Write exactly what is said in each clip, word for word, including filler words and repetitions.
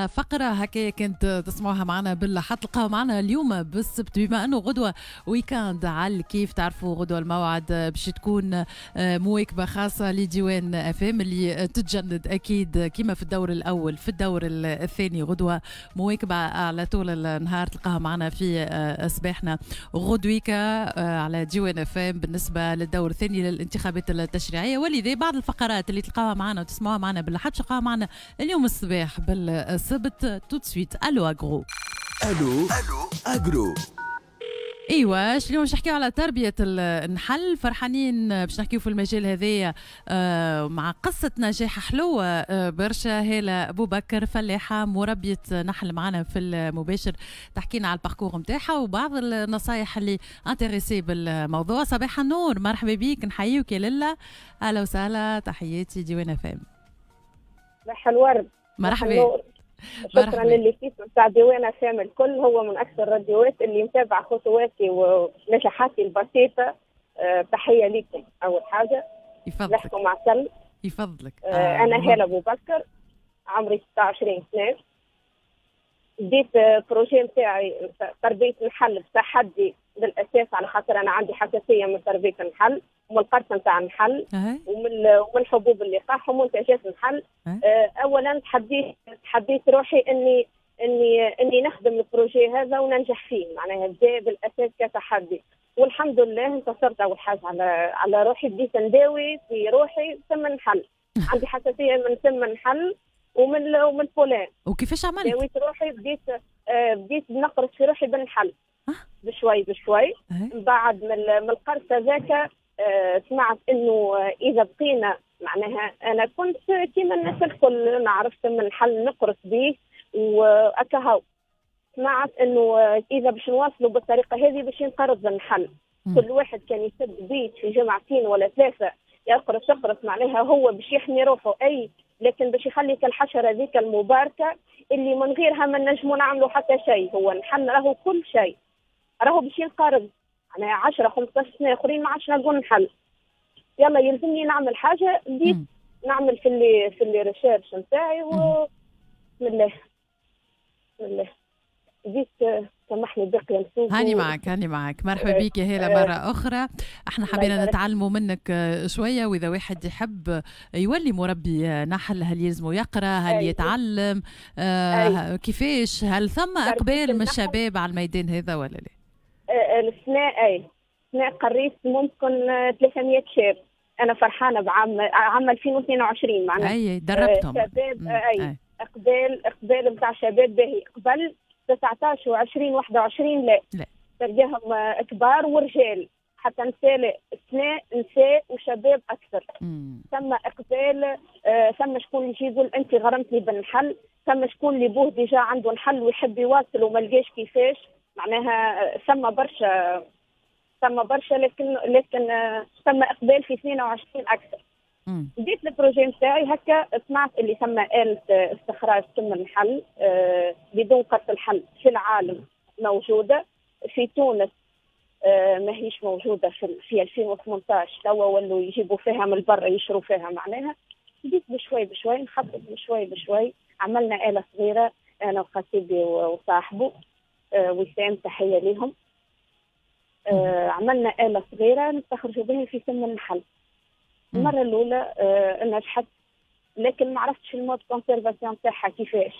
فقرة هكايا كانت تسمعوها معنا بالحد، تلقاو معنا اليوم بالسبت، بما انه غدوة week-end على الكيف. تعرفوا غدوة الموعد باش تكون مواكبة خاصة لديوان اف ام اللي تتجند اكيد كما في الدور الاول في الدور الثاني. غدوة مواكبة على طول النهار تلقاها معنا في صباحنا غدويكا على ديوان اف ام بالنسبة للدور الثاني للانتخابات التشريعية. ولذا بعض الفقرات اللي تلقاوها معنا وتسمعوها معنا بالحد تلقاوها معنا اليوم الصباح بالسبت. tout de suite allo agro. allo allo agro. ايوا، اليوم باش نحكيو على تربيه النحل. فرحانين باش نحكيو في المجال هذايا آه، مع قصة نجاح حلوة آه، برشا. هالة ابو بكر، فلاحة مربيه نحل، معنا في المباشر تحكينا على ال parcours نتاعها وبعض النصايح اللي intéressés بالموضوع. صباح النور، مرحبا بيك، نحييك يا للا، اهلا وسهلا، تحياتي ديوان اف ام. صباح الورد. مرحبا. شكرا لل l'équipe نتاع ديوان اف ام الكل، هو من اكثر الراديوات اللي متابعه خطواتي ونجاحاتي البسيطه. أه تحية لكم اول حاجه. يفضلك. نحكم عسل. يفضلك. آه آه انا هاله ابو بكر، عمري ستة وعشرين سنه. بديت projet نتاعي تربيه النحل بتحدي بالاساس، على خاطر انا عندي حساسية من تربيه النحل ومن القرصه نتاع النحل ومن ومن حبوب اللقاح ومنتجات النحل. آه، اولا تحديت تحديت روحي اني اني اني نخدم ال projet هذا وننجح فيه، معناها بدا بالاساس كتحدي، والحمد لله انتصرت اول حاجة على على روحي. بديت نداوي في روحي سم النحل، عندي حساسية من سم النحل ومن ومن ال pollen. وكيفاش عملت؟ داويت روحي، بديت آه بديت نقرص في روحي بالنحل بشوي بشوي. من بعد من من القرصه ذاك آه، سمعت انه اذا بقينا، معناها انا كنت كيما الناس الكل نعرف سم النحل نقرص به واكهو. سمعت انه اذا باش نواصلوا بالطريقة هذه باش ينقرض النحل. كل واحد كان يسد بيت في جمعتين ولا ثلاثة يقرص يقرص، معناها هو باش يحمي روحه اي، لكن باش يخلي الحشرة ذيك المباركة اللي من غيرها ما نجموا نعملوا حتى شيء، هو النحل راهو كل شيء، راهو باش ينقرض، معناها عشرة خمسطاش سنة اخرين ما عادش نلقوا نحل. يلا يلزمني نعمل حاجه. بديت نعمل في les في les recherches نتاعي و بسم الله بسم الله بديت. سامحني باقي نسوق. هاني معك هاني معك، مرحبا بك يا هالة مرة أخرى. احنا حبينا نتعلموا منك شوية، وإذا واحد يحب يولي مربي نحل، هل يلزمه يقرأ؟ هل يتعلم؟ آه كيفاش؟ هل ثم إقبال من الشباب على الميدان هذا ولا لا؟ آه، السنة أي السنة قريت ممكن ثلاثمية شاب. أنا فرحانة بعام عام ألفين واثنين وعشرين معناها. أي، دربتهم. شباب أي, أي. اقبال اقبال نتاع شباب باهي. قبل تسعطاش وعشرين واحد وعشرين لا لا، تلقاهم كبار ورجال، حتى نساء. السنة نساء وشباب اكثر. ثم اقبال آه ثم شكون يجي يقول انت غرمتني بالنحل، ثم شكون اللي بوه déjà عنده نحل ويحب يواصل وما لقاش كيفاش. معناها ثم برشا ثم برشا، لكن لكن آه، ثم اقبال في اثنين وعشرين اكثر. بديت ال projet نتاعي هكا، سمعت اللي ثم آلة استخراج سم النحل آه بدون قرص النحل في العالم موجودة، في تونس آه ما هيش موجودة في, في ألفين وثمنطاش. توا ولوا يجيبوا فيها من برا، يشروا فيها معناها. بديت بشوي بشوي نخطط، بشوي بشوي عملنا آلة صغيرة أنا وخطيبي وصاحبه آه وسام، تحية لهم. آه عملنا آلة صغيرة نستخرجوا بها في سم النحل. المرة الاولى آه نجحت، لكن ما عرفتش ال mode conservation تاعها كيفاش.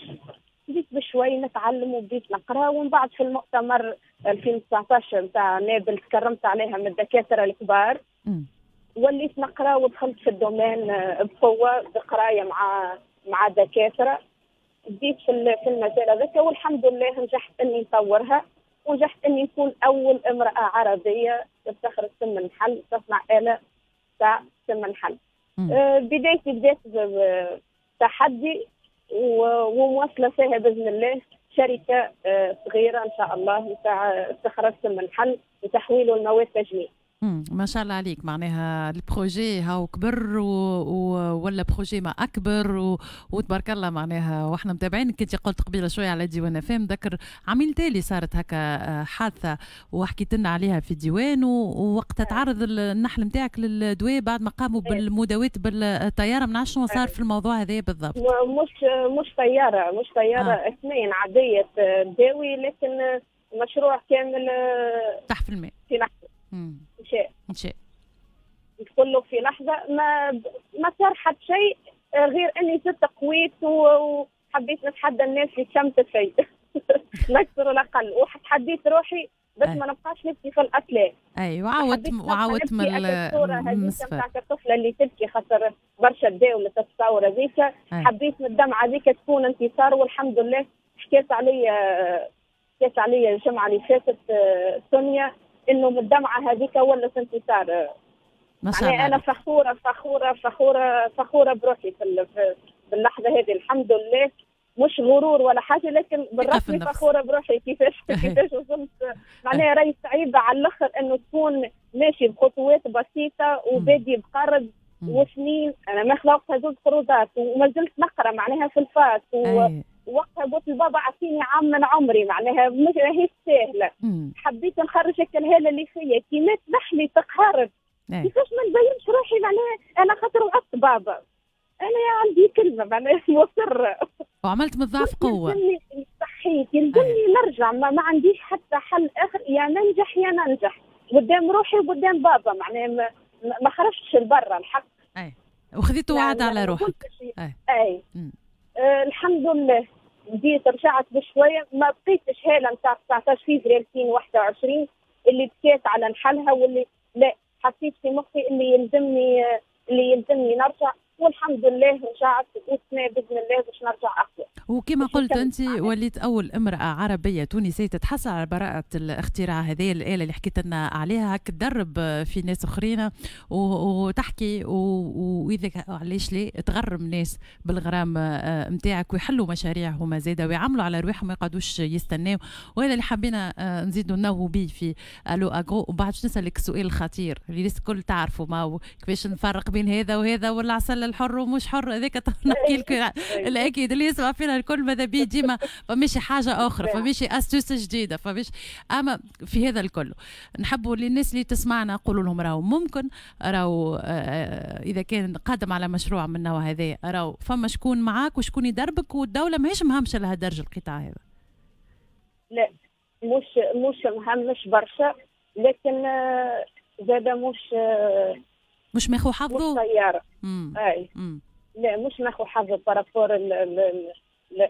بديت بشوي نتعلم وبديت نقرا، ومن بعد في المؤتمر ألفين وتسعطاش نتاع نابل تكرمت عليها من الدكاترة الكبار. وليت نقرا ودخلت في ال domaine آه، بقوه، بقرايه مع مع دكاتره. بديت في في المجال هذاك والحمد لله نجحت اني نطورها، ونجحت اني نكون اول امراة عربية تستخرج سم النحل، تصنع اله تاع سم النحل. آه بدايتي بدات بتحدي ومواصله فيها باذن الله، شركة آه صغيرة ان شاء الله نتاع استخراج سم النحل وتحويله لمواد تجميل. ما شاء الله عليك، معناها ال projet هاو كبر و... و... ولا projet ما اكبر و... وتبارك الله معناها، واحنا متابعين. كنت قلت قبيلة شوية على ديوان اف ام، ذكر عامين تالي صارت هكا حادثه وحكيت لنا عليها في ديوان، ووقتها تعرض النحل نتاعك للدواء بعد ما قاموا بالمداوات بالطيارة. ما نعرفش شنو صار في الموضوع هذا بالضبط. مش مش طيارة، مش طيارة آه. اثنين عادية تداوي، لكن مشروع كامل تحت في الماء في لحظة. مشى مشى كله في لحظة، ما ما صار حتى شيء غير اني زدت قويت وحبيت نتحدى الناس اللي شمتت في لا اكثر ولا اقل، وتحديت روحي بس ما نبقاش نبكي في الاطلال. اي وعاودت وعاودت من الصورة هذيك نتاع الطفلة اللي تبكي خاطر برشا داولت التصاور هذيك، حبيت من الدمعة هذيك تكون انتصار، والحمد لله. حكيت علي حكيت علي الجمعة اللي فاتت سونيا انه من الدمعة هذيك ولت انتصار. ما شاء الله. انا فخورة فخورة فخورة فخورة بروحي في باللحظة هذه، الحمد لله. مش غرور ولا حاجة، لكن بالرسمي فخورة بروحي كيفاش كيفاش وصلت. معناها راهي صعيبة على الاخر انه تكون ماشي بخطوات بسيطة وبادي بقرض وسنين. انا ما خلقت زوج قروضات وما زلت نقرا معناها في ال fac، ووقتها قلت لبابا اعطيني عام من عمري، معناها ماهيش ساهله. حبيت نخرج الهالة اللي فيا، كي مات نحلي تقهرت كيفاش ما نبينش روحي، معناها انا خاطر وعدت بابا، انا عندي كلمة معناها مصرة. وعملت من الضعف قوة. صحيت يلزمني نرجع، ما, ما عنديش حتى حل اخر، يا ننجح يا ننجح قدام روحي وقدام بابا، معناها ما, ما خرجتش لبرا الحق. اي وخذيت وعد على روحك. اي, أي. آه الحمد لله بديت رجعت بشوية، ما بقيتش هاله نتاع تسعطاش فيفري ألفين وواحد وعشرين اللي بكيت على نحلها واللي لا، حسيت في مخي اللي يلزمني اللي يلزمني نرجع، والحمد لله رجعت والسنة باذن الله باش نرجع اقوى. وكما قلت انت وليت اول امراة عربية تونسية تتحصل على براءه الاختراع هذه الاله اللي حكيت لنا عليها، هك تدرب في ناس اخرين وتحكي، واذا علاش ليه تغرم ناس بالغرام نتاعك ويحلوا مشاريع هما زاده ويعملوا على رواحهم ما يقعدوش يستناو. وهذا اللي حبينا نزيدوا ننوهوا به في الو اغرو. وبعد باش نسالك السؤال الخطير اللي الناس الكل تعرفوا، ما هو كيفاش نفرق بين هذا وهذا والعسل الحر ومش حر، هذاك نحكي لك الاكيد اللي يسمع فينا الكل ماذا بيه ديما فماشي حاجة اخرى، فماشي astuce جديدة، فماشي. اما في هذا الكل نحبوا للناس اللي تسمعنا نقولوا لهم راهو ممكن، راهو اذا كان قادم على مشروع من النوع هذا راهو فما شكون معاك وشكون يدربك، والدولة ماهيش مهمشه لهالدرجة القطاع هذا. لا مش مش مهمش برشا، لكن زاد مش مش ماخو حظه. مش طيارة. اي لا مش ماخو حظه par rapport لا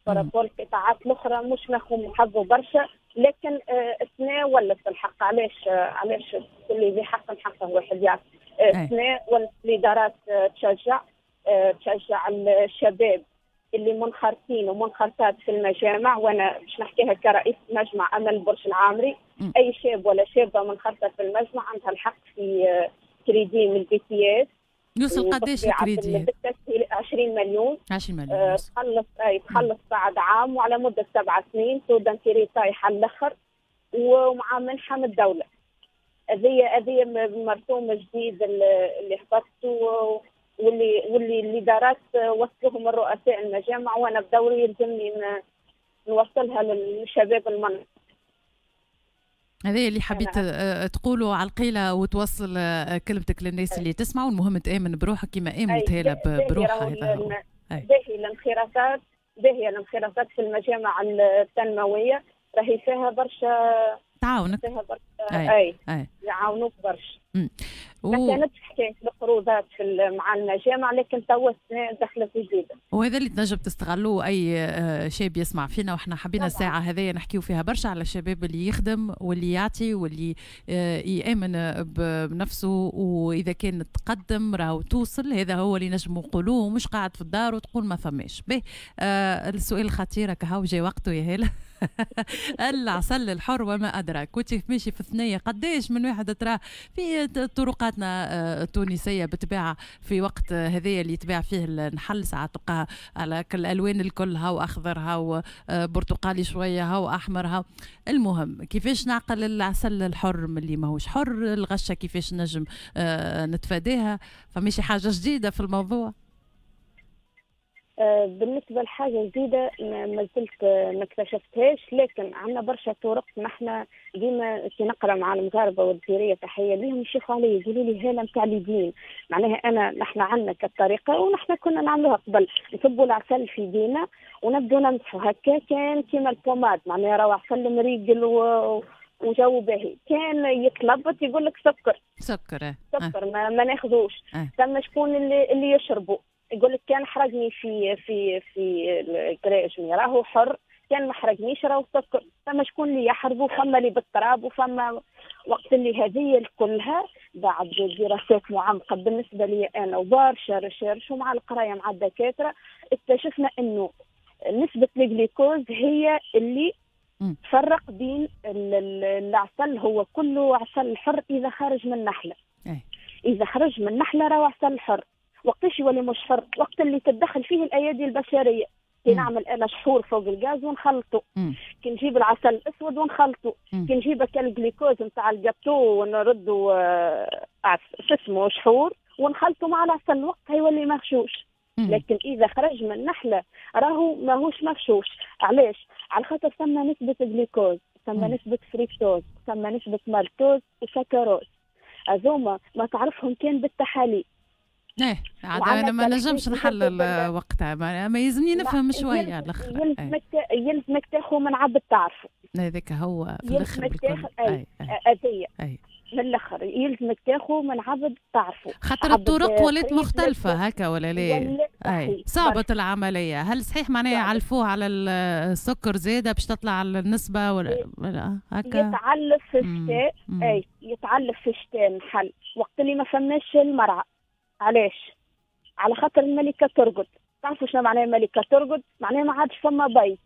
par rapport القطاعات الاخرى مش ماخو حظه برشا، لكن السنة ولت الحق. علاش علاش كل ذي حق حقه واحد يعرف. السنة ولت الادارات تشجع تشجع الشباب اللي منخرطين ومنخرطات في المجامع، وانا باش نحكيها كرئيس مجمع امل برج العامري، م. اي شاب ولا شابه منخرطه في المجمع عندها الحق في كريدي من ال BTS. يوصل قداش الكريدي؟ عشرين مليون. عشرين مليون آه تخلص آه تخلص بعد عام وعلى مده سبع سنين، taux d'intérêt طايح على الاخر ومع منحه من الدولة. هذه هذه مرسوم جديد اللي هبطته واللي واللي الادارات وصلوهم الرؤساء المجامع، وانا بدوري يلزمني نوصلها للشباب المنطقة. هذا اللي حبيت تقوله على القيلة وتوصل كلمتك للناس اللي تسمع، والمهم تآمن بروحك كما آمنت هالة بروحها. هذا هو باهي الانخراطات، باهي الانخراطات في المجامع التنموية راهي فيها برشا تعاونك، فيها برشا اي, أي. يعاونوك برشا. و... ما كانتش حكاية القروضات في مع المجامع، لكن توا دخلت جديدة، وهذا اللي تنجم تستغلوه اي شاب يسمع فينا. وحنا حبينا الساعة هذيا نحكيو فيها برشا على الشباب اللي يخدم واللي يعطي واللي يامن بنفسه، واذا كان تقدم راهو توصل. هذا هو اللي نجم نقولوه، مش قاعد في الدار وتقول ما فماش. به آه السؤال الخطير كهو جاي وقته يا هاله. العسل الحر وما ادراك. كنت ماشي في الثنية قداش من واحد ترى في طرقاتنا التونسية بالطبيعة في وقت هذايا اللي يتباع فيه النحل، ساعات تلقاه على كل الالوان الكل، هاو اخضر هاو برتقالي شوية هاو احمر هاو. المهم كيفاش نعقل العسل الحر من اللي ماهوش حر، الغشه كيفاش نجم نتفاداها، فماشي حاجة جديدة في الموضوع؟ بالنسبة لحاجة جديدة ما زلت ما اكتشفتهاش، لكن عندنا برشا طرق. نحن ديما كي نقرا مع المغاربة والجزائريه تحية ليهم يشوفوا علي يقولوا لي هاله نتاع اليدين، معناها انا نحن عندنا كالطريقه ونحن كنا نعملوها قبل، نصبوا العسل في يدينا ونبدو نمسحوا هكا، كان كيما ال pommade معناها راهو عسل مريقل و وجو باهي. كان يتلبط يقول لك سكر سكر سكر ما, ما ناخذوش. ثم شكون اللي, اللي يشربوا يقول لك كان حرقني في في في الكراجمي راهو حر، كان ما حرقنيش راهو سكر. فما شكون اللي يحرقوا، فما اللي بالتراب، وفما وقت اللي هذه كلها بعد دراسات معمقة بالنسبة لي انا وبرشا recherche ومع القراية مع الدكاترة اكتشفنا انه نسبه الجليكوز هي اللي تفرق بين العسل، هو كله عسل حر اذا خرج من النحلة. اذا خرج من النحلة راهو عسل حر. وقتاش يولي مش حر؟ وقت اللي تتدخل فيه الايادي البشرية. كي نعمل انا شحور فوق الغاز ونخلطه، كي نجيب العسل الاسود ونخلطه، كي نجيب الجليكوز نتاع الجاتو ونردو شو اسمه شحور ونخلطه مع العسل، وقتها يولي مغشوش. لكن اذا خرج من النحلة راهو ماهوش مغشوش. علاش؟ على خاطر ثم نسبه جليكوز، ثم نسبه فريكتوز، ثم نسبه مالتوز وسكروز، هذوما ما تعرفهم كان بالتحاليل. ايه عاد انا ما نجمش نحلل وقتها، ما يلزمني نفهم شوية على الاخر. يلزمك يلزمك تاخذ من عبد تعرفه، هذاك هو في الاخر يلزمك تاخذ اذيه من الاخر، يلزمك تاخذ من عبد تعرفه، خاطر الطرق ولات مختلفة هكا ولا لا؟ اي صعبة العملية. هل صحيح معناها يعلفوه على السكر زاده باش تطلع النسبة ولا هكا؟ يتعلف في الشتاء، اي يتعلف في الشتاء النحل وقت اللي ما فماش المرعى. علاش؟ على خاطر الملكة ترقد. تعرفوا شنو معناها الملكة ترقد؟ معناها ما عادش فما بيض،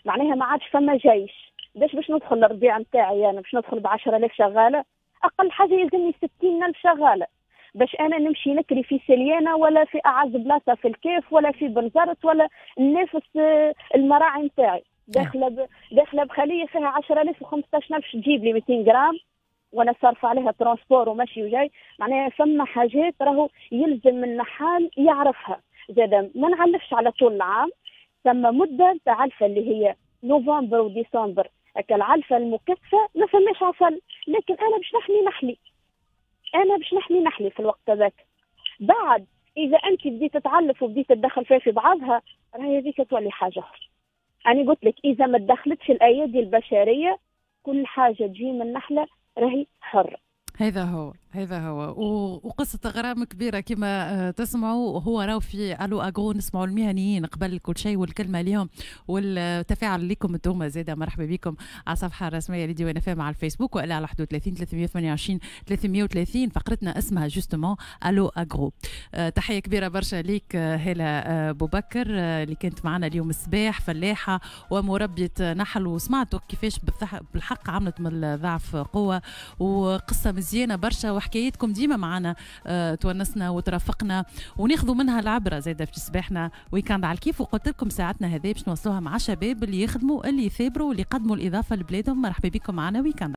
معناها ما عادش فما جيش. باش باش ندخل الربيع نتاعي انا باش ندخل ب عشرة آلاف شغالة، اقل حاجة يلزمني ستين ألف شغالة باش انا نمشي نكري في سليانه ولا في اعز بلاصة في الكيف ولا في بنزرت ولا ننافس المراعي نتاعي. داخله ب... داخله بخليه فيها عشرة آلاف وخمسطاش ألف تجيب لي مئتين غرام وانا صارفه عليها transport وماشي وجاي. معناها فما حاجات راهو يلزم النحال يعرفها. زاد ما نعلفش على طول العام، ثم مده تاع علفه اللي هي نوفمبر وديسمبر، هكا العلفه المكثفة ما فماش عسل، لكن انا باش نحمي نحلي، انا باش نحمي نحلي في الوقت هذاك. بعد اذا انت بديت تتعلف وبديت تدخل فيها في بعضها راهي هذيك تولي حاجة اخرى. انا قلت لك اذا ما تدخلتش الايادي البشرية كل حاجة تجي من النحلة راهي حرة. هذا هو هذا هو وقصة غرام كبيرة كما تسمعوا. هو راهو في Allo Agro نسمعوا المهنيين قبل كل شيء، والكلمة ليهم والتفاعل لكم انتم زاده. مرحبا بكم على الصفحة الرسمية لديوان اف ام على الفيسبوك والا على واحد وثلاثين ثلاثمية وثمانية وعشرين ثلاثمية وثلاثين. فقرتنا اسمها justement Allo Agro. تحية كبيرة برشا ليك هالة بوبكر اللي كانت معنا اليوم الصباح، فلاحة ومربية نحل، وسمعتوا كيفاش بالحق عملت من الضعف قوة، وقصة مزيانة برشا، وحكايتكم ديما معنا أه تونسنا وترافقنا وناخذوا منها العبرة زاده في صباحنا week-end على الكيف. وقلت لكم ساعتنا هذه باش نوصلوها مع شباب اللي يخدموا، اللي يثابروا، واللي يقدموا الاضافة لبلادهم. مرحبا بكم معنا week-end.